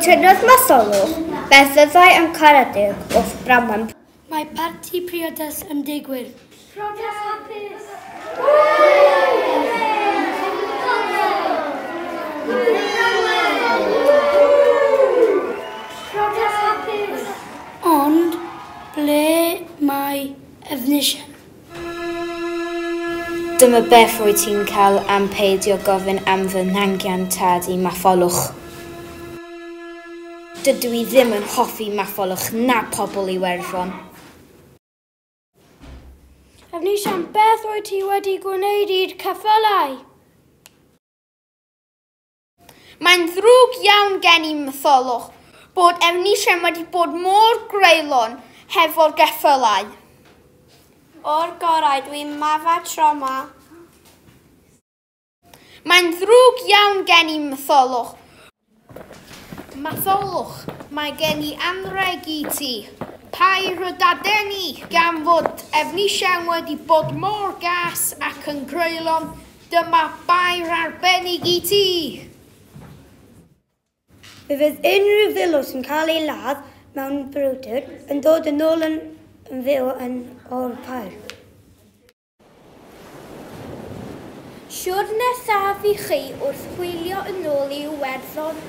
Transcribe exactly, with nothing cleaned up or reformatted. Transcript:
Cytunodd Matholwch beth fyddai yn Caredig wrth Branwen. Mae parti priodas yn digwydd. Priodas hapus! Priodas hapus! Ond ble mae Efnisien? Dyma beth rwyt ti'n cael am peidio gofyn am fy nhangian tad i Matholwch. Dydw i ddim yn hoffi Matholwch na pobl Iwerddon. Efnisien, beth wyt ti wedi gwneud i'r ceffylau? Mae'n ddrwg iawn gen i, Matholwch, bod Efnisien wedi bod mor greulon hefo'r geffylau. O'r gorau, dwi'n mafa tro 'ma. Mae'n ddrwg iawn gen i, Matholwch. Matholwch, mae gen i anrheg i ti. Pair o dadeni, gan fod Efnisien wedi bod mor gas ac yn greulon, dyma bair arbennig i ti. Fe fydd unrhyw filwr sy'n cael ei ladd mewn brwydr yn dod yn ôl yn, yn fyw yn o'r pair. Siwrne saf i chi wrth hwylio yn ôl i Iwerddon.